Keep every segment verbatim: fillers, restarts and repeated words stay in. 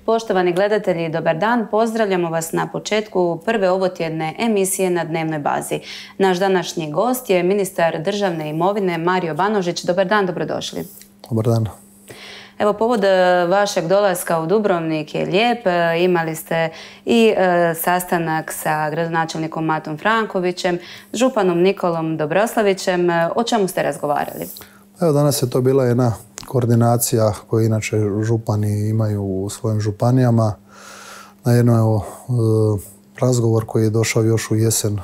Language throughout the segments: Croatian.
Poštovani gledatelji, dobar dan. Pozdravljamo vas na početku prve ovotjedne emisije na dnevnoj bazi. Naš današnji gost je ministar državne imovine Mario Banožić. Dobar dan, dobrodošli. Dobar dan. Evo, povod vašeg dolaska u Dubrovnik je lijep. Imali ste i e, sastanak sa gradonačelnikom Matom Frankovićem, županom Nikolom Dobroslavićem. O čemu ste razgovarali? Evo, danas je to bila jedna koordinacija koju inače župani imaju u svojim županijama. Na jedno razgovor koji je došao još u jesen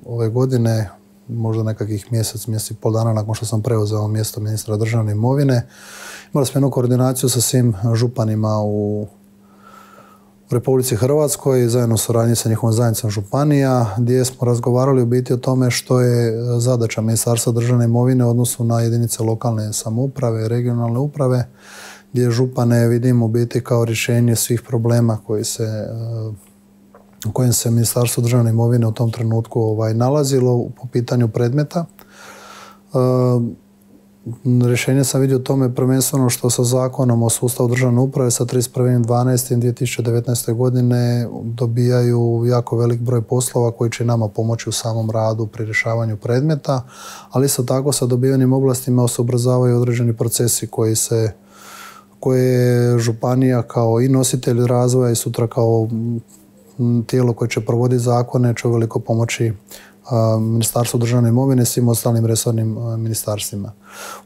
ove godine, možda nekakvih mjesec, mjesec i pol dana nakon što sam preuzeo mjesto ministra državne imovine. Imali smo jednu koordinaciju sa svim županima u Republici Hrvatskoj, zajedno u suradnji sa njihovom zajednicom županija, gdje smo razgovarali u biti o tome što je zadaća Ministarstva državne imovine u odnosu na jedinice lokalne samouprave i regionalne uprave, gdje župane vidimo u biti kao rješenje svih problema koji se, u kojim se Ministarstvo državne imovine u tom trenutku ovaj, nalazilo po pitanju predmeta. Rješenje sam vidio tome prvenstveno što sa zakonom o sustavu državne uprave sa trideset prvi dvanaesti dvije tisuće devetnaeste. godine dobijaju jako velik broj poslova koji će nama pomoći u samom radu pri rješavanju predmeta, ali isto tako sa dobivenim oblastima se ubrzavaju određeni procesi koji se koje županija kao i nositelj razvoja i sutra kao tijelo koje će provoditi zakone će uveliko pomoći Ministarstvo državne imovine i svim ostalim resornim ministarstvima.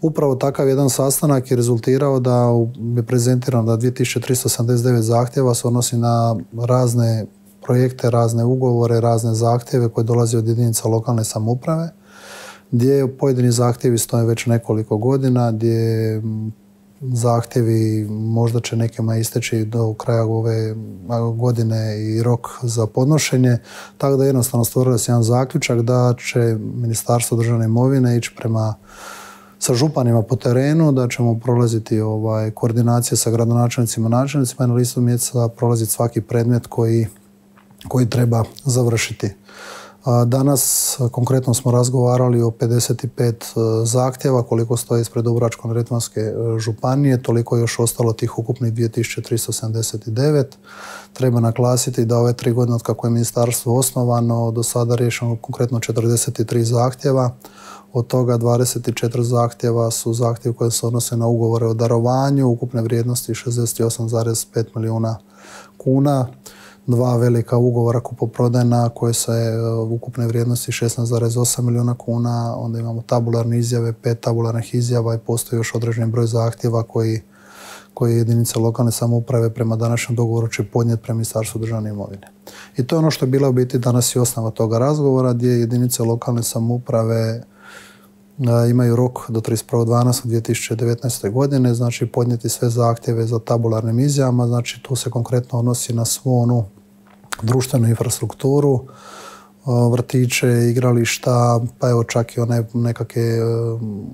Upravo takav jedan sastanak je rezultirao da je prezentirano da dvije tisuće tristo sedamdeset devet zahtjeva se odnosi na razne projekte, razne ugovore, razne zahtjeve koje dolaze od jedinica lokalne samouprave, gdje pojedini zahtjevi stoje već nekoliko godina, gdje zahtjevi možda će nekima isteći do kraja ove godine i rok za podnošenje, tako da jednostavno stvorili se jedan zaključak da će Ministarstvo državne imovine ići prema sa županima po terenu, da ćemo prolaziti ovaj, koordinacije sa gradonačelnicima i načelnicima i na listu mjeseca prolaziti svaki predmet koji, koji treba završiti. Danas konkretno smo razgovarali o pedeset pet zahtjeva koliko stoji ispred Dubrovačko-neretvanske županije, toliko je još ostalo tih ukupnih dvije tisuće tristo sedamdeset devet. Treba naglasiti da ove tri godine od kako je ministarstvo osnovano do sada riješeno konkretno četrdeset tri zahtjeva. Od toga dvadeset četiri zahtjeva su zahtjevi koje se odnose na ugovore o darovanju ukupne vrijednosti šezdeset osam zarez pet milijuna kuna. Dva velika ugovora kupoprodajna koje se u ukupne vrijednosti šesnaest zarez osam milijuna kuna, onda imamo tabularne izjave, pet tabularnih izjava i postoji još određeni broj zahtjeva koji, koji jedinice lokalne samouprave prema današnjem dogovoru će podnijeti prema Ministarstvu državne imovine. I to je ono što je bila u biti danas i osnova toga razgovora, gdje jedinice lokalne samouprave imaju rok do trideset prvog dvanaestog dvije tisuće devetnaeste. godine, znači podnijeti sve zahtjeve za tabularnim izjavama, znači tu se konkretno odnosi na svu onu društvenu infrastrukturu, vrtiće, igrališta, pa evo čak i one nekakve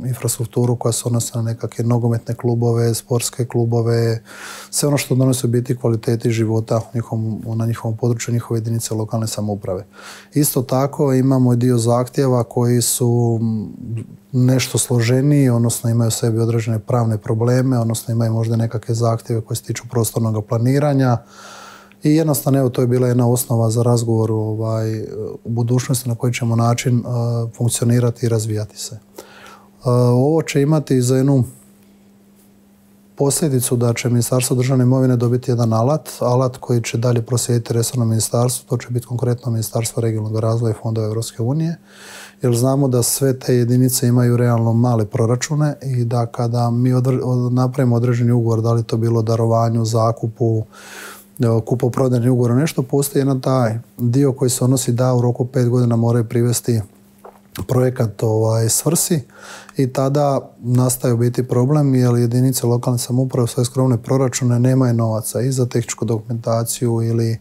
infrastrukturu koja se odnosi na nekakve nogometne klubove, sportske klubove, sve ono što donosi u biti kvaliteti života njihovom, na njihovom području, njihove jedinice lokalne samouprave. Isto tako imamo i dio zahtjeva koji su nešto složeniji, odnosno imaju u sebi određene pravne probleme, odnosno imaju možda nekakve zahtjeve koje se tiču prostornog planiranja. I jednostavno, evo, to je bila jedna osnova za razgovor ovaj, u budućnosti na koji ćemo način uh, funkcionirati i razvijati se. Uh, ovo će imati za jednu posljedicu da će Ministarstvo državne imovine dobiti jedan alat, alat koji će dalje proslijediti resorno ministarstvo, to će biti konkretno Ministarstvo regionalnog razvoja i fondova Europske unije, jer znamo da sve te jedinice imaju realno male proračune i da kada mi odre, od, napravimo određeni ugovor, da li to bilo darovanju, zakupu, kupoprodajni ugovor, nešto, postoji jedan taj dio koji se odnosi da u roku pet godina moraju privesti projekat ovaj, svrsi i tada nastaje biti problem jer jedinice lokalne samouprave u svoje skromne proračune nemaju novaca i za tehničku dokumentaciju ili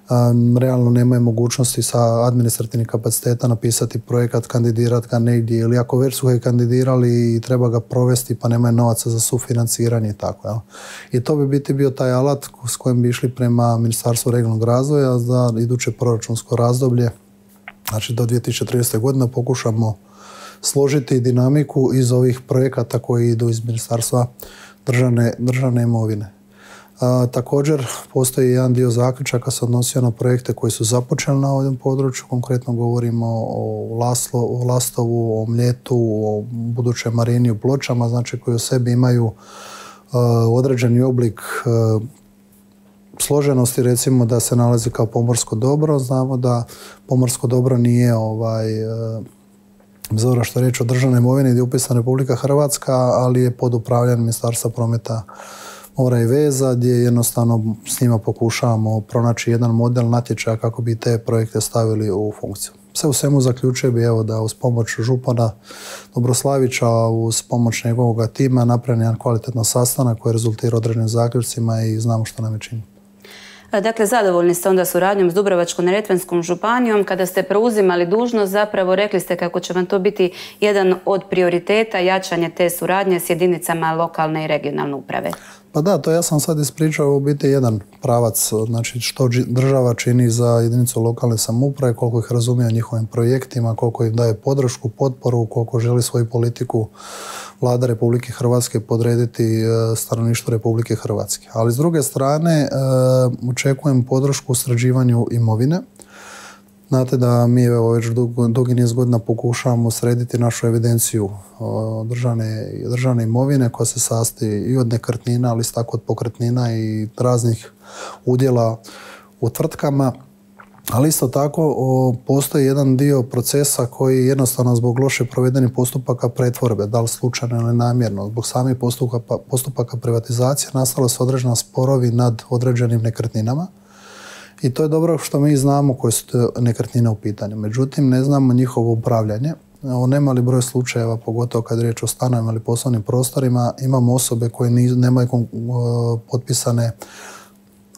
um, realno nemaju mogućnosti sa administrativnih kapaciteta napisati projekat, kandidirati ga negdje ili ako već su ga kandidirali i treba ga provesti pa nemaju novaca za sufinanciranje i tako. Jel? I to bi biti bio taj alat s kojim bi išli prema Ministarstvu regionalnog razvoja za iduće proračunsko razdoblje. Znači do dvije tisuće tridesete. godine pokušamo složiti dinamiku iz ovih projekata koji idu iz Ministarstva državne, državne imovine. A, također postoji jedan dio zaključaka se odnosio na projekte koji su započeli na ovom području, konkretno govorimo o, Laslo, o Lastovu, o Mljetu, o budućoj marini u Pločama, znači koji u sebi imaju a, određeni oblik a, složenosti, recimo da se nalazi kao pomorsko dobro. Znamo da pomorsko dobro nije ovaj, bez obzira što je riječ o državnoj imovini gdje je upisana Republika Hrvatska, ali je pod upravljanjem Ministarstva prometa, mora i veza, gdje jednostavno s njima pokušavamo pronaći jedan model natječaja kako bi te projekte stavili u funkciju. Sve u svemu zaključuje bi evo da uz pomoć župana Dobroslavića, uz pomoć njegovog tima napravljen jedan kvalitetan sastanak koji rezultira određenim zaključcima i znamo što nam je čini. Dakle, zadovoljni ste onda suradnjom s Dubrovačko-neretvenskom županijom. Kada ste preuzimali dužnost, zapravo rekli ste kako će vam to biti jedan od prioriteta jačanje te suradnje s jedinicama lokalne i regionalne uprave. Pa da, to ja sam sad ispričao u biti jedan pravac, znači što država čini za jedinicu lokalne samouprave, koliko ih razumije o njihovim projektima, koliko im daje podršku, potporu, koliko želi svoju politiku Vlada Republike Hrvatske podrediti stanovništvu Republike Hrvatske. Ali s druge strane očekujem podršku u sređivanju imovine. Znate da mi evo, već dugi niz godina pokušavamo srediti našu evidenciju državne, državne imovine koja se sastoji i od nekretnina, ali isto tako od pokretnina i raznih udjela u tvrtkama. Ali isto tako o, postoji jedan dio procesa koji jednostavno zbog loše provedenih postupaka pretvorbe, da li slučajno ili namjerno, zbog samih postupaka, postupaka privatizacije nastalo su određeni sporovi nad određenim nekretninama. I to je dobro što mi znamo koje su te nekretnine u pitanju. Međutim, ne znamo njihovo upravljanje. O nemali broj slučajeva, pogotovo kad je riječ o stanovima ili poslovnim prostorima, imamo osobe koje nemaju potpisane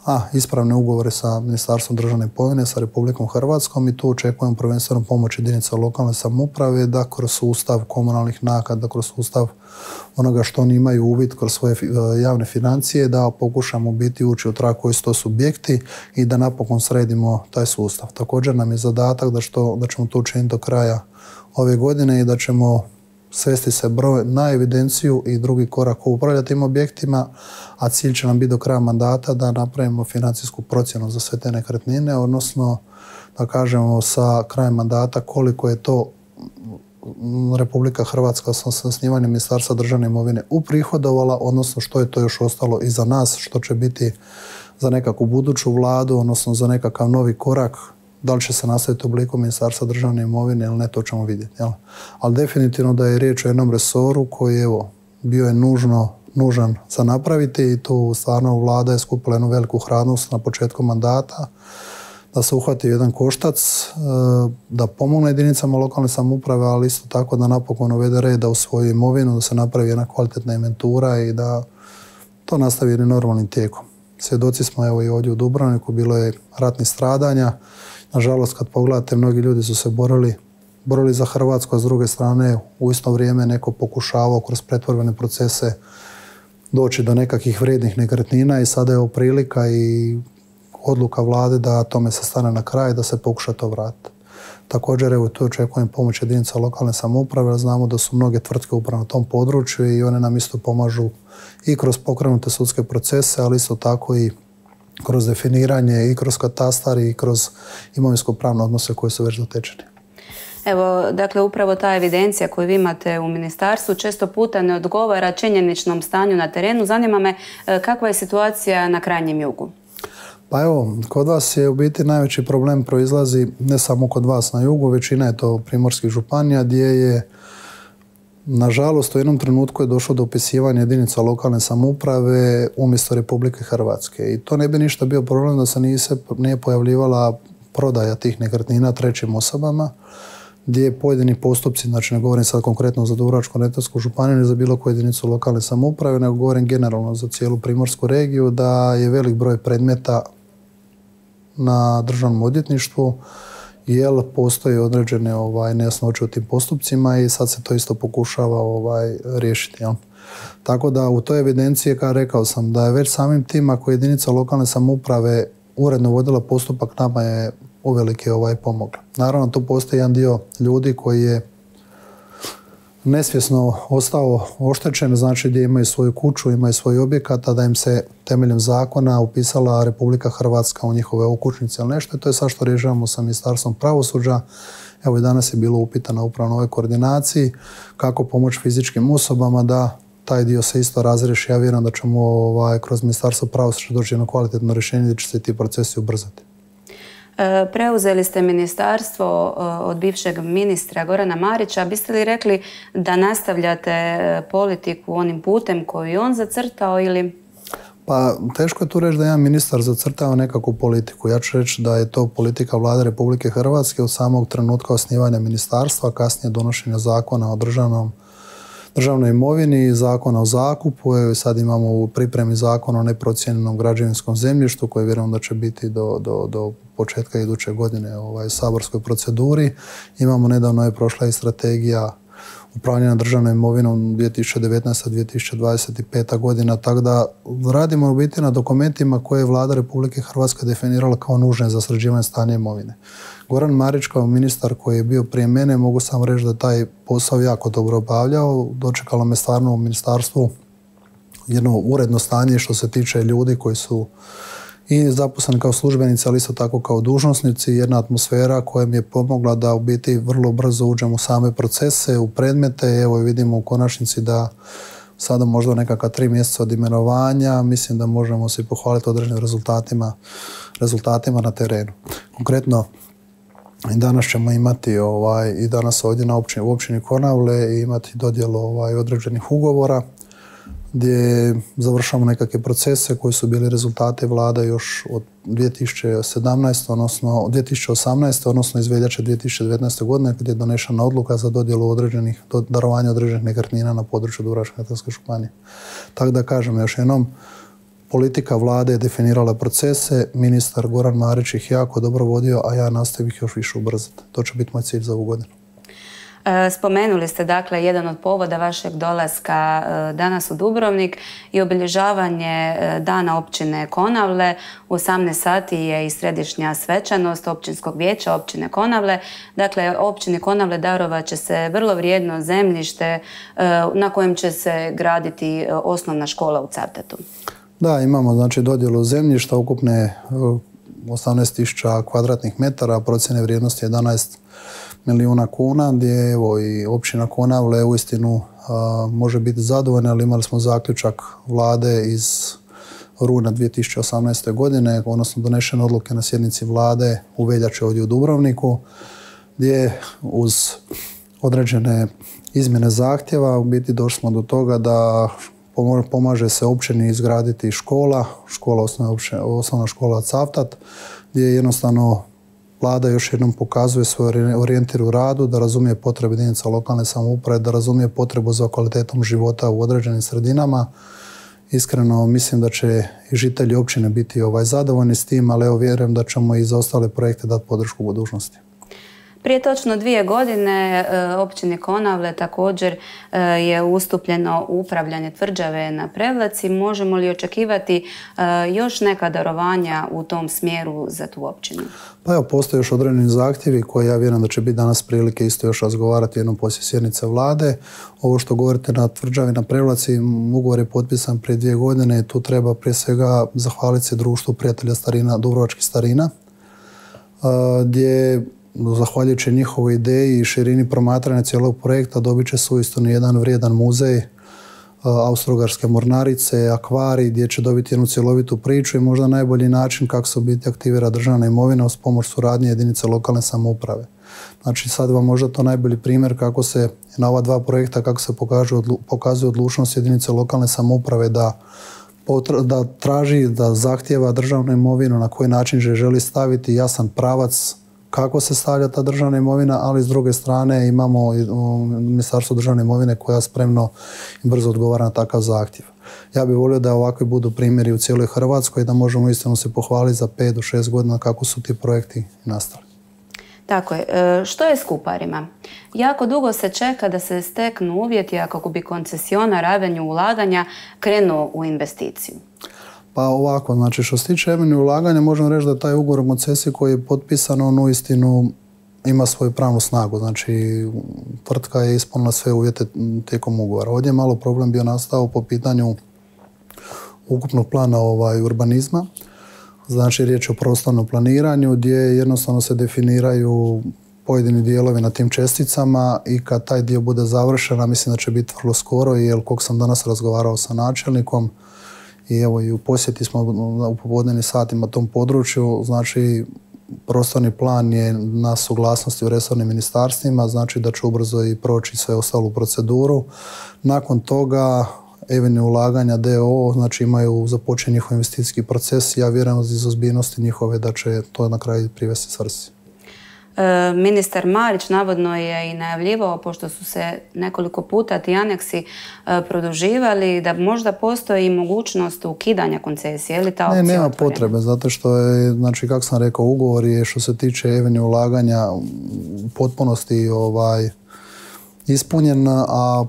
a, ispravne ugovore sa Ministarstvom državne imovine, sa Republikom Hrvatskom i tu očekujemo prvenstveno pomoć jedinica lokalne samouprave da kroz sustav komunalnih naknada, kroz sustav onoga što oni imaju uvid kroz svoje javne financije, da pokušamo biti ući u trag koji su to subjekti i da napokon sredimo taj sustav. Također nam je zadatak da, što, da ćemo to učiniti do kraja ove godine i da ćemo svesti se broj na evidenciju i drugi korak upravljati tim objektima, a cilj će nam biti do kraja mandata da napravimo financijsku procjenu za sve te nekretnine, odnosno da kažemo sa krajem mandata koliko je to Republika Hrvatska sa osnivanjem Ministarstva državne imovine uprihodovala, odnosno što je to još ostalo iza nas, što će biti za nekakvu buduću vladu, odnosno za nekakav novi korak. Da li će se nastaviti u obliku Ministarstva državne imovine ili ne, to ćemo vidjeti. Jel? Ali definitivno da je riječ o jednom resoru koji evo, bio je nužno, nužan za napraviti i tu stvarno vlada je skupila jednu veliku hrabrost na početku mandata da se uhvati jedan koštac, da pomogne jedinicama lokalne samouprave, ali isto tako da napokon uvede reda u svoju imovinu, da se napravi jedna kvalitetna inventura i da to nastavi jednim normalnim tijekom. Svjedoci smo evo i ovdje u Dubrovniku, bilo je ratnih stradanja. Nažalost, kad pogledate, mnogi ljudi su se borili, borili za Hrvatsku, a s druge strane u isto vrijeme neko pokušavao kroz pretvorbene procese doći do nekakvih vrijednih nekretnina i sada je ovo prilika i odluka vlade da tome se stane na kraj, da se pokuša to vratiti. Također, evo tu očekujem pomoć jedinica lokalne samouprave, znamo da su mnoge tvrtke upravo na tom području i one nam isto pomažu i kroz pokrenute sudske procese, ali isto tako i kroz definiranje i kroz katastar i kroz imovinsko-pravne odnose koji su već dotečeni. Evo, dakle, upravo ta evidencija koju vi imate u ministarstvu često puta ne odgovara činjeničnom stanju na terenu. Zanima me kakva je situacija na krajnjem jugu? Pa evo, kod vas je u biti najveći problem proizlazi ne samo kod vas na jugu, većina je to primorskih županija gdje je nažalost u jednom trenutku je došlo do upisivanja jedinica lokalne samouprave umjesto Republike Hrvatske. I to ne bi ništa bio problem da se nije, se nije pojavljivala prodaja tih nekretnina trećim osobama, gdje pojedini postupci, znači ne govorim sad konkretno za Dubrovačko-neretvansku županiju ni za bilo koju jedinicu lokalne samouprave, nego govorim generalno za cijelu primorsku regiju, da je velik broj predmeta na državnom odvjetništvu, jer postoje određene ovaj, nejasnoće u tim postupcima i sad se to isto pokušava ovaj, riješiti. Jel? Tako da u toj evidenciji, kao rekao sam, da je već samim tim ako jedinica lokalne samouprave uredno vodila postupak, nama je uvelike ovaj, pomogla. Naravno, tu postoji jedan dio ljudi koji je nesvjesno ostao oštećen, znači gdje imaju svoju kuću, imaju svoj objekat, a da im se temeljem zakona upisala Republika Hrvatska u njihove okućnice ili nešto. I to je sad što rješavamo sa Ministarstvom pravosuđa. Evo i danas je bilo upitano upravo na ovoj koordinaciji kako pomoći fizičkim osobama da taj dio se isto razriješi. Ja vjerujem da ćemo ovaj, kroz Ministarstvo pravosuđa doći jedno kvalitetno rješenje gdje će se ti procesi ubrzati. Preuzeli ste ministarstvo od bivšeg ministra Gorana Marića. Biste li rekli da nastavljate politiku onim putem koji je on zacrtao ili... Pa teško je tu reći da je jedan ministar zacrtao nekakvu politiku. Ja ću reći da je to politika Vlade Republike Hrvatske od samog trenutka osnivanja ministarstva, kasnije donošenja zakona o državnom državnoj imovini, zakona o zakupu. Evo sad imamo u pripremi zakon o neprocijenjenom građevinskom zemljištu koji vjerujem da će biti do, do, do početka iduće godine ovaj, u saborskoj proceduri. Imamo nedavno je prošla i strategija upravljanja državnom imovinom dvije tisuće devetnaesta do dvije tisuće dvadeset peta godina, tako da radimo u biti na dokumentima koje je Vlada Republike Hrvatske definirala kao nužne za sređivanje stanja imovine. Goran Marić kao ministar koji je bio prije mene, mogu samo reći da taj posao jako dobro obavljao. Dočekalo me stvarno u ministarstvu jedno uredno stanje što se tiče ljudi koji su i zaposleni kao službenici, ali isto tako kao dužnosnici, jedna atmosfera koja mi je pomogla da u biti vrlo brzo uđem u same procese, u predmete. Evo vidimo u konačnici da sada možda nekakva tri mjeseca od imenovanja, mislim da možemo se pohvaliti određenim rezultatima, rezultatima na terenu. Konkretno, i danas ćemo imati ovaj, i danas ovdje na općini, u općini Konavle i imati dodjelu ovaj, određenih ugovora gdje završamo nekakve procese koji su bili rezultate vlade još od dvije tisuće sedamnaeste. odnosno dvije tisuće osamnaeste. odnosno iz veljače dvije tisuće devetnaeste. godine kad je donešena odluka za dodjelu određenih, darovanje određenih nekretnina na području Dubrovačko-neretvanske županije. Tako da kažem još jednom, politika vlade je definirala procese, ministar Goran Marić ih jako dobro vodio, a ja nastavim ih još više ubrzati. To će biti moj cilj za ovu godinu. Spomenuli ste dakle jedan od povoda vašeg dolaska danas u Dubrovnik i obilježavanje dana općine Konavle. U osamnaest sati je i središnja svečanost općinskog vijeća općine Konavle. Dakle, općini Konavle darovat će se vrlo vrijedno zemljište na kojem će se graditi osnovna škola u Cavtatu. Da, imamo znači dodjelu zemljišta ukupne osamnaest tisuća kvadratnih metara, procjene vrijednosti jedanaest milijuna kuna, gdje evo i općina Konavle uistinu a, može biti zadovoljna, ali imali smo zaključak vlade iz rujna dvije tisuće osamnaeste. godine, odnosno donešene odluke na sjednici vlade u veljači ovdje u Dubrovniku, gdje uz određene izmjene zahtjeva u biti došli smo do toga da pomaže se općini izgraditi škola, škola osnovna, osnovna škola Cavtat, gdje jednostavno Vlada još jednom pokazuje svoj orijentir u radu, da razumije potrebe jedinica lokalne samouprave, da razumije potrebu za kvalitetom života u određenim sredinama. Iskreno mislim da će i žitelji općine biti ovaj zadovoljni s tim, ali evo vjerujem da ćemo i za ostale projekte dati podršku u budućnosti. Prije točno dvije godine općini Konavle također je ustupljeno upravljanje tvrđave na Prevlaci. Možemo li očekivati još neka darovanja u tom smjeru za tu općinu? Pa evo, postoje još određeni zahtjevi koji ja vjerujem da će biti danas prilike isto još razgovarati jednom poslije sjednice vlade. Ovo što govorite na tvrđavi na Prevlaci, ugovor je potpisan prije dvije godine. Tu treba prije svega zahvaliti se društvu prijatelja starina, Dubrovačkih starina, gdje zahvaljujući njihovoj ideji i širini promatranja cijelog projekta dobit će se uistinu jedan vrijedan muzej Austro-Ugarske mornarice, akvarij, gdje će dobiti jednu cjelovitu priču i možda najbolji način kako se u biti aktivira državna imovina uz pomoć suradnje jedinice lokalne samouprave. Znači sad vam možda to najbolji primjer kako se na ova dva projekta kako se pokazuje odlučnost jedinice lokalne samouprave da da traži, da zahtjeva državnu imovinu, na koji način želi staviti jasan pravac kako se stavlja ta državna imovina, ali s druge strane imamo Ministarstvo državne imovine koja spremno i brzo odgovara na takav zahtjev. Ja bih volio da ovakvi budu primjeri u cijeloj Hrvatskoj i da možemo istinu se pohvaliti za pet do šest godina kako su ti projekti nastali. Tako je. Što je s Kuparima? Jako dugo se čeka da se steknu uvjeti, a kako bi koncesionar Avenue ulaganja krenuo u investiciju. Pa ovako, znači što se tiče Avenue ulaganja, možemo reći da taj ugovor o koncesiji koji je potpisan, on uistinu ima svoju pravnu snagu. Znači, tvrtka je ispunila sve uvjete tijekom ugovora. Ovdje je malo problem bio nastao po pitanju ukupnog plana ovaj, urbanizma. Znači, riječ je o prostornom planiranju gdje jednostavno se definiraju pojedini dijelovi na tim česticama i kad taj dio bude završen, mislim da će biti vrlo skoro, jer koliko sam danas razgovarao sa načelnikom i evo i u posjeti smo u popodnevnim satima tom području, znači prostorni plan je na suglasnosti u resornim ministarstvima, znači da će ubrzo i proći sve ostalu proceduru. Nakon toga Avenue ulaganja d o o, znači imaju započet njihov investicijski proces. Ja vjerujem iz ozbiljnosti njihove da će to na kraju privesti svrsi. E, ministar Marić navodno je i najavljivao, pošto su se nekoliko puta ti aneksi e, produživali, da možda postoji i mogućnost ukidanja koncesije. Je li ta opcija Ne, nema otvorena? potrebe, zato što je, znači kako sam rekao, ugovor je što se tiče Avenue ulaganja u potpunosti ovaj, ispunjen, a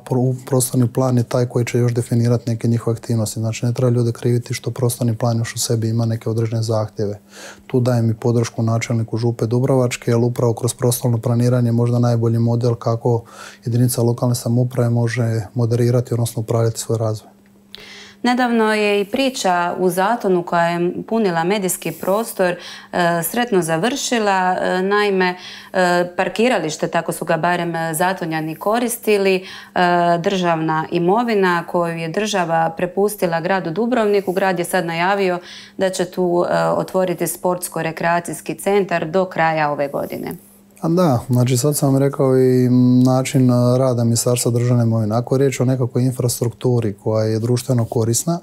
prostorni plan je taj koji će još definirati neke njihove aktivnosti. Znači, ne treba ljude kriviti što prostorni plan još u sebi ima neke određene zahtjeve. Tu dajem i podršku načelniku Župe Dubrovačke, jer upravo kroz prostorno planiranje je možda najbolji model kako jedinica lokalne samouprave može moderirati, odnosno upravljati svoj razvoj. Nedavno je i priča u Zatonu koja je punila medijski prostor e, sretno završila. E, naime, e, parkiralište, tako su ga barem Zatonjani koristili, e, državna imovina koju je država prepustila gradu Dubrovniku. Grad je sad najavio da će tu e, otvoriti sportsko-rekreacijski centar do kraja ove godine. A da, znači sad sam rekao i način rada Ministarstva državne imovine. Ako je riječ o nekakvoj infrastrukturi koja je društveno korisna,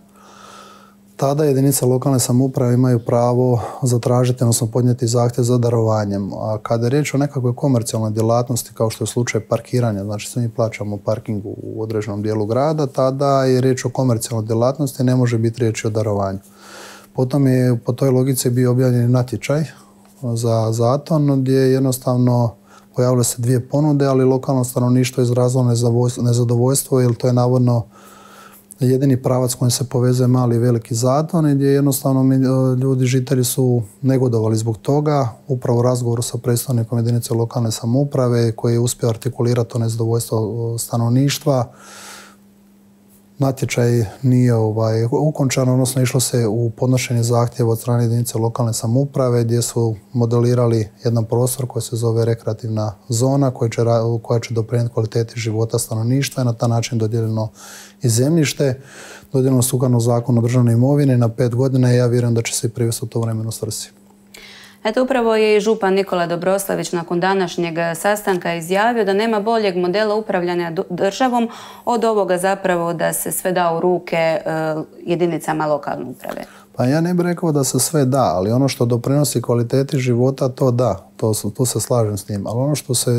tada jedinice lokalne samouprave imaju pravo zatražiti, odnosno podnijeti zahtjev za darovanjem. A kada je riječ o nekakvoj komercijalnoj djelatnosti, kao što je slučaj parkiranja, znači svi mi plaćamo parking u određenom dijelu grada, tada je riječ o komercijalnoj djelatnosti, ne može biti riječ o darovanju. Potom je po toj logici bio objavljen natječaj za Zaton, gdje jednostavno pojavile se dvije ponude, ali lokalno stanovništvo je izrazilo nezadovoljstvo, jer to je navodno jedini pravac kojim se povezuje mali i veliki Zaton i gdje jednostavno ljudi, žitelji su negodovali zbog toga. Upravo u razgovoru sa predstavnikom jedinice lokalne samouprave koji je uspio artikulirati to nezadovoljstvo stanovništva, natječaj nije ovaj, ukončan, odnosno išlo se u podnošenje zahtjeva od strane jedinice lokalne samouprave gdje su modelirali jedan prostor koji se zove rekreativna zona koja će, koja će doprinijeti kvaliteti života stanovništva i na taj način dodijeljeno i zemljište. Dodijeljeno sukladno zakonu o državnoj imovini na pet godina i ja vjerujem da će se i privesti u to vremenu svrsi. Eto, upravo je i župan Nikola Dobroslavić nakon današnjeg sastanka izjavio da nema boljeg modela upravljanja državom od ovoga zapravo da se sve da u ruke jedinicama lokalne uprave. Pa ja ne bih rekao da se sve da, ali ono što doprinosi kvaliteti života, to da, to, tu se slažem s njim. Ali ono što se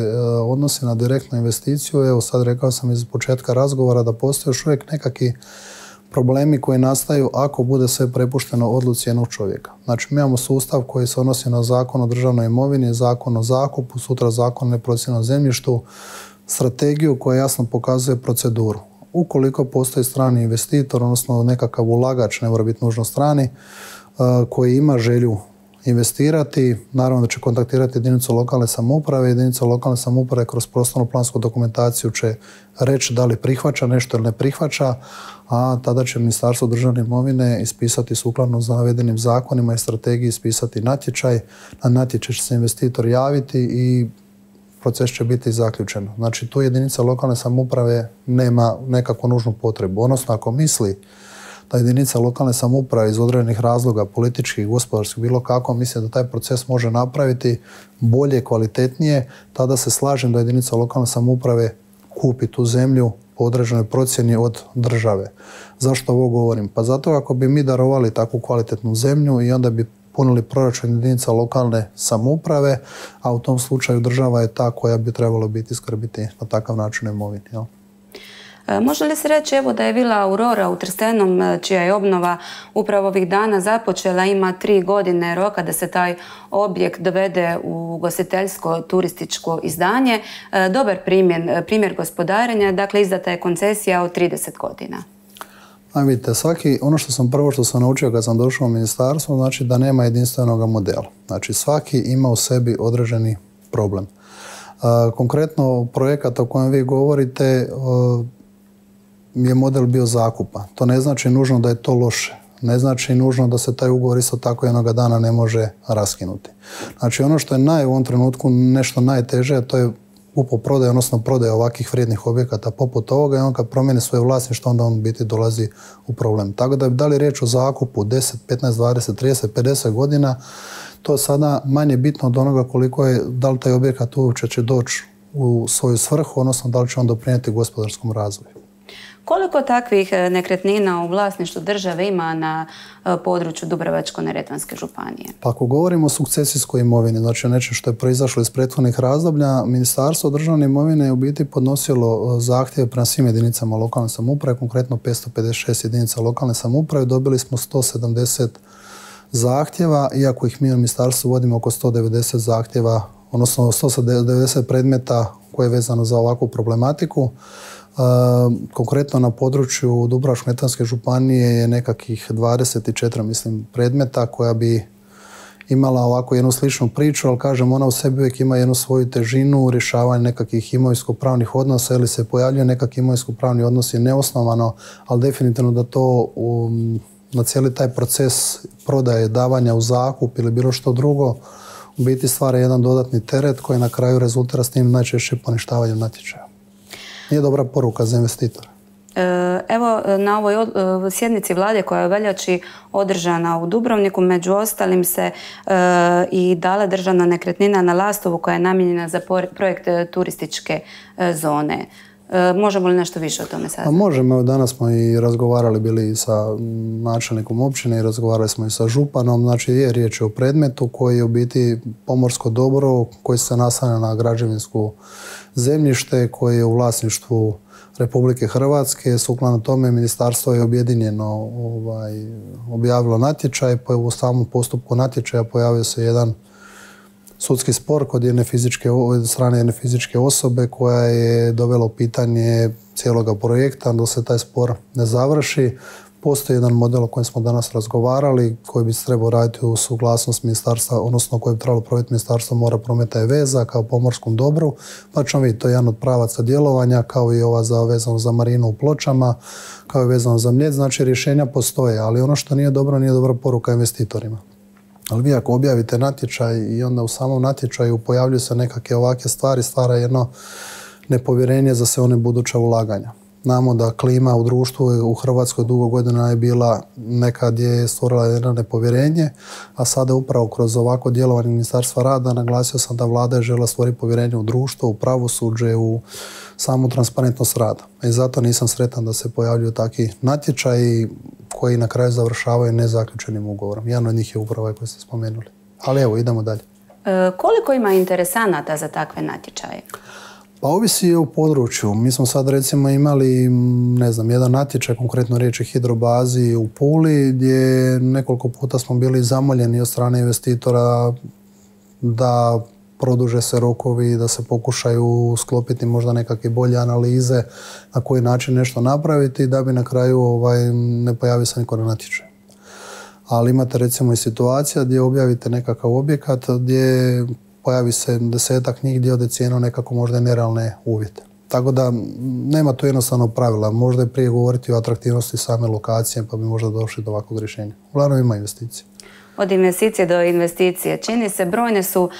odnosi na direktnu investiciju, evo sad rekao sam iz početka razgovora da postoje još uvijek nekakvi problemi koji nastaju ako bude sve prepušteno odluci jednog čovjeka. Znači, mi imamo sustav koji se odnosi na zakon o državnoj imovini, zakon o zakupu, sutra zakon o neprocijenjenom zemljištu, strategiju koja jasno pokazuje proceduru. Ukoliko postoji strani investitor, odnosno nekakav ulagač, ne mora biti nužno strani, koji ima želju investirati, naravno da će kontaktirati jedinicu lokalne samouprave. Jedinica lokalne samouprave kroz prostorno plansku dokumentaciju će reći da li prihvaća nešto ili ne prihvaća, a tada će Ministarstvo državne imovine ispisati sukladno za navedenim zakonima i strategiji ispisati natječaj. Na natječaj će se investitor javiti i proces će biti zaključen. Znači, tu jedinica lokalne samouprave nema nekakvu nužnu potrebu. Odnosno, ako misli da jedinica lokalne samouprave iz određenih razloga, političkih, gospodarskih, bilo kako, misli da taj proces može napraviti bolje, kvalitetnije, tada se slažem da jedinica lokalne samouprave kupi tu zemlju po određenoj procjeni od države. Zašto ovo govorim? Pa zato ako bi mi darovali takvu kvalitetnu zemlju i onda bi punili proračun jedinica lokalne samouprave, a u tom slučaju država je ta koja bi trebalo biti skrbiti na takav način imovini. Jel? Može li se reći evo da je Vila Aurora u Trstenom, čija je obnova upravo ovih dana započela, ima tri godine roka da se taj objekt dovede u ugostiteljsko turističko izdanje, dobar primjer, primjer gospodarenja, dakle izdata je koncesija od trideset godina. A vidite, svaki, ono što sam prvo što sam naučio kad sam došao u ministarstvo, znači da nema jedinstvenog modela. Znači svaki ima u sebi određeni problem. Konkretno projekat o kojem vi govorite je model bio zakupa. To ne znači nužno da je to loše. Ne znači nužno da se taj ugovor isto tako jednoga dana ne može raskinuti. Znači ono što je naj, u ovom trenutku nešto najteže, a to je kupoprodaja, odnosno prodaja ovakvih vrijednih objekata poput ovoga i on kad promijeni svoje vlasništvo, onda on u biti dolazi u problem. Tako da da li riječ o zakupu deset, petnaest, dvadeset, trideset, pedeset godina, to je sada manje bitno od onoga koliko je, da li taj objekat uopće će doći u svoju svrhu, odnosno da li će on doprinijeti gospodarskom razvoju. Koliko takvih nekretnina u vlasništvu države ima na području Dubrovačko-neretvanske županije? Pa ako govorimo o sukcesijskoj imovini, znači o nečem što je proizašlo iz prethodnih razdoblja, Ministarstvo državne imovine je u biti podnosilo zahtjeve prema svim jedinicama lokalne samouprave, konkretno petsto pedeset šest jedinica lokalne samouprave, dobili smo sto sedamdeset zahtjeva, iako ih mi u ministarstvu vodimo oko sto devedeset zahtjeva, odnosno sto devedeset predmeta koje je vezano za ovakvu problematiku. Konkretno na području Dubrovačko-neretvanske županije je nekakvih dvadeset četiri mislim, predmeta koja bi imala ovako jednu sličnu priču, ali kažem, ona u sebi uvijek ima jednu svoju težinu, rješavanje nekakvih imovinsko-pravnih odnosa ili se pojavljuje nekakvi imovinsko-pravni odnosi neosnovano, ali definitivno da to um, na cijeli taj proces prodaje, davanja u zakup ili bilo što drugo, u biti stvara jedan dodatni teret koji na kraju rezultira s tim najčešće poništavanjem natječaja. Nije dobra poruka za investitora. Evo, na ovoj sjednici vlade koja je u veljači održana u Dubrovniku, među ostalim se i dala državna nekretnina na Lastovu koja je namijenjena za projekt turističke zone. Možemo li nešto više o tome saznati? Možemo. Danas smo i razgovarali bili sa načelnikom općine i razgovarali smo i sa županom. Znači je riječ o predmetu koji je u biti pomorsko dobro koji se naslanja na građevinsku zemljište koje je u vlasništvu Republike Hrvatske. Sukladno tome ministarstvo je objedinjeno ovaj, objavilo natječaj. U samom postupku natječaja pojavio se jedan sudski spor kod jedne fizičke, od strane jedne fizičke osobe koja je dovela u pitanje cijeloga projekta dok se taj spor ne završi. Postoji jedan model o kojem smo danas razgovarali koji bi se trebao raditi u suglasnost ministarstva, odnosno koji bi trebalo provesti Ministarstvo mora, prometa i veza kao pomorskom dobru. Pa ćemo vidjeti, to je jedan od pravaca djelovanja kao i ova za, vezano za marinu u Pločama, kao i vezano za Mljet. Znači rješenja postoje, ali ono što nije dobro, nije dobra poruka investitorima. Ali vi ako objavite natječaj i onda u samom natječaju pojavljuju se nekakve ovakve stvari, stvara jedno nepovjerenje za sve one buduća ulaganja. Znamo da klima u društvu u Hrvatskoj dugo godina je bila, nekad je stvorila jedno nepovjerenje, a sada upravo kroz ovako djelovanje Ministarstva rada naglasio sam da vlada je željela stvoriti povjerenje u društvo, u pravosuđe, u samu transparentnost rada. I zato nisam sretan da se pojavljuju takvi natječaji koji na kraju završavaju nezaključenim ugovorom. Jedan od njih je upravo ovaj koji ste spomenuli. Ali evo, idemo dalje. E, koliko ima interesanata za takve natječaje? Pa ovisi u području. Mi smo sad recimo imali, ne znam, jedan natječaj, konkretno riječ je hidrobazi u Puli, gdje nekoliko puta smo bili zamoljeni od strane investitora da produže se rokovi, da se pokušaju sklopiti možda nekakve bolje analize na koji način nešto napraviti da bi na kraju ovaj, ne pojavio se niko na natječaju. Ali imate recimo i situacija gdje objavite nekakav objekat gdje pojavi se desetak njih gdje ode cijenu nekako možda nerealne uvjete. Tako da nema tu jednostavno pravila. Možda je prije govoriti o atraktivnosti same lokacije pa bi možda došli do ovakvog rješenja. Uglavnom ima investicije. Od investicije do investicije. Čini se, brojne su,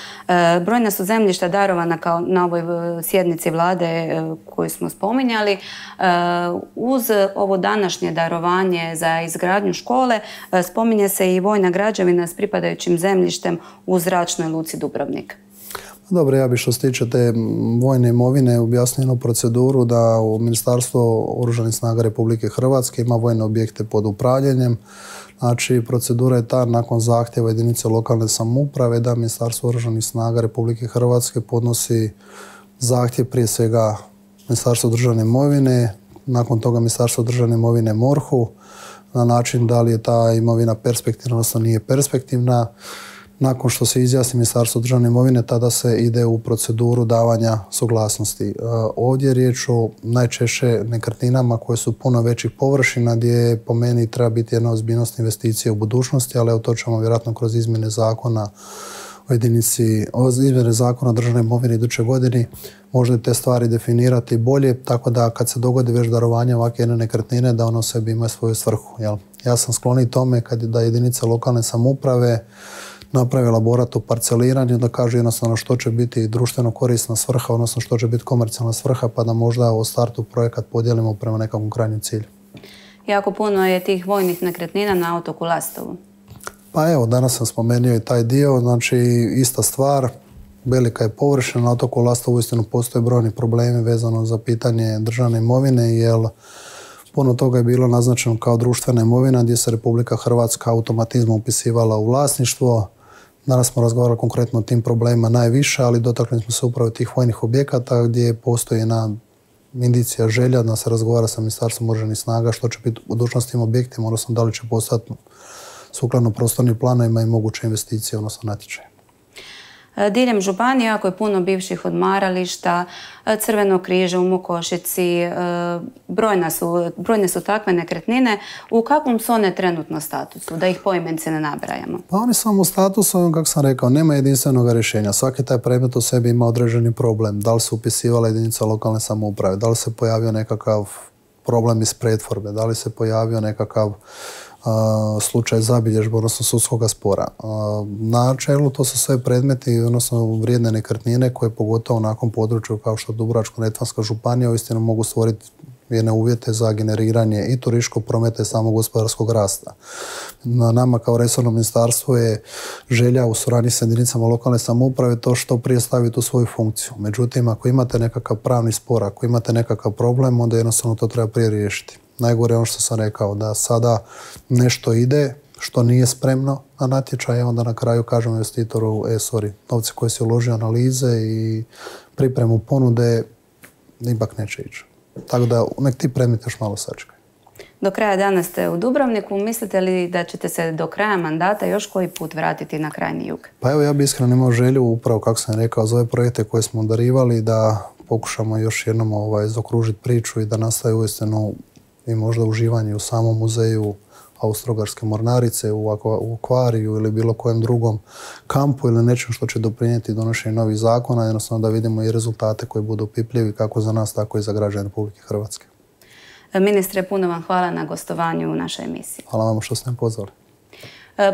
brojne su zemljišta darovana kao na ovoj sjednici vlade koju smo spominjali. Uz ovo današnje darovanje za izgradnju škole spominje se i vojna građevina s pripadajućim zemljištem u zračnoj luci Dubrovnik. Dobro, ja bih što se tiče te vojne imovine objasnio proceduru da u Ministarstvo oružanih snaga Republike Hrvatske ima vojne objekte pod upravljanjem. Znači, procedura je ta nakon zahtjeva jedinice lokalne samouprave da Ministarstvo oružanih snaga Republike Hrvatske podnosi zahtjev prije svega Ministarstvo državne imovine, nakon toga Ministarstvo državne imovine MORH-u na način da li je ta imovina perspektivna, odnosno nije perspektivna. Nakon što se izjasni Ministarstvo državne imovine, tada se ide u proceduru davanja suglasnosti. Ovdje je riječ o najčešće nekretninama koje su puno većih površina gdje po meni treba biti jedna ozbiljnost investicije u budućnosti, ali evo to ćemo vjerojatno kroz izmjene zakona o jedinici, o izmjene zakona o državnoj imovini iduće godini možda te stvari definirati bolje, tako da kad se dogodi već darovanje ovakve jedne nekretnine, da ono sebi ima svoju svrhu. Jel? Ja sam skloni tome kad da jedinice lokalne samouprave napravi elaborat o parceliranju, da kaže jednostavno što će biti društveno korisna svrha, odnosno što će biti komercijalna svrha, pa da možda u startu projekat podijelimo prema nekakvom krajnjem cilju. Jako puno je tih vojnih nekretnina na otoku Lastovu. Pa evo, danas sam spomenuo i taj dio, znači ista stvar, velika je površina, na otoku Lastovu uistinu postoje brojni problemi vezano za pitanje državne imovine, jer puno toga je bilo naznačeno kao društvena imovina gdje se Republika Hrvatska automatizmom upisivala u vlasništvo. Danas smo razgovarali konkretno o tim problemima najviše, ali dotakli smo se upravo tih vojnih objekata gdje postoji jedna indicija želja da se razgovara sa Ministarstvom oružanih snaga što će biti u budućnosti tim objektima, odnosno da li će postati sukladno prostornim planovima i moguće investicije, odnosno natječaje. Diljem županije jako je puno bivših odmarališta, Crvenog križa u Mokošici, brojne su, brojne su takve nekretnine. U kakvom su one trenutno statusu, da ih poimence ne nabrajamo? Pa oni su u statusu, kako sam rekao, nema jedinstvenog rješenja. Svaki taj predmet u sebi ima određeni problem. Da li se upisivala jedinica lokalne samouprave, da li se pojavio nekakav problem iz pretvorbe, da li se pojavio nekakav slučaj zabilježbe, odnosno sudskog spora. Na čelu to su sve predmeti, odnosno vrijedne nekretnine koje pogotovo nakon području kao što je Dubrovačko-neretvanska županija uistinu mogu stvoriti jedne uvjete za generiranje i turističkog prometa i samog gospodarskog rasta. Na nama kao resorno ministarstvo je želja u suradnji sa jedinicama lokalne samouprave to što prije staviti u svoju funkciju. Međutim, ako imate nekakav pravni spor, ako imate nekakav problem, onda jednostavno to treba prije riješiti. Najgore je ono što sam rekao, da sada nešto ide što nije spremno na natječaje, onda na kraju kažemo investitoru, e, sorry, novci koji si uložio analize i pripremu ponude, ipak neće ići. Tako da nek ti predmeti još malo sačekaju. Do kraja dana ste u Dubrovniku. Mislite li da ćete se do kraja mandata još koji put vratiti na krajnji jug? Pa evo, ja bi iskreno imao želju, upravo kako sam rekao, za ove projekte koje smo darivali, da pokušamo još jednom ovaj, zaokružiti priču i da nastaje uistinu i možda uživanje u samom muzeju Austro-Ugarske mornarice, u akvariju ili bilo kojem drugom kampu ili nečem što će doprinijeti donošenju novih zakona, jednostavno da vidimo i rezultate koji budu opipljivi kako za nas, tako i za građane Republike Hrvatske. Ministre, puno vam hvala na gostovanju u našoj emisiji. Hvala vam što ste me pozvali.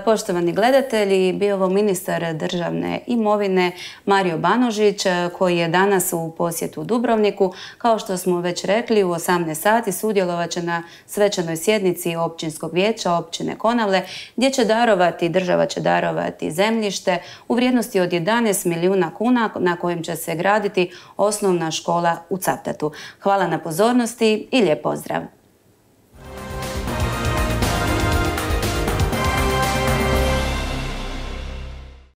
Poštovani gledatelji, bio ovo ministar državne imovine Mario Banožić koji je danas u posjetu u Dubrovniku. Kao što smo već rekli, u osamnaest sati sudjelovat će na svečanoj sjednici Općinskog vijeća općine Konavle gdje će darovati, država će darovati zemljište u vrijednosti od jedanaest milijuna kuna na kojim će se graditi osnovna škola u Cavtatu. Hvala na pozornosti i lijep pozdrav!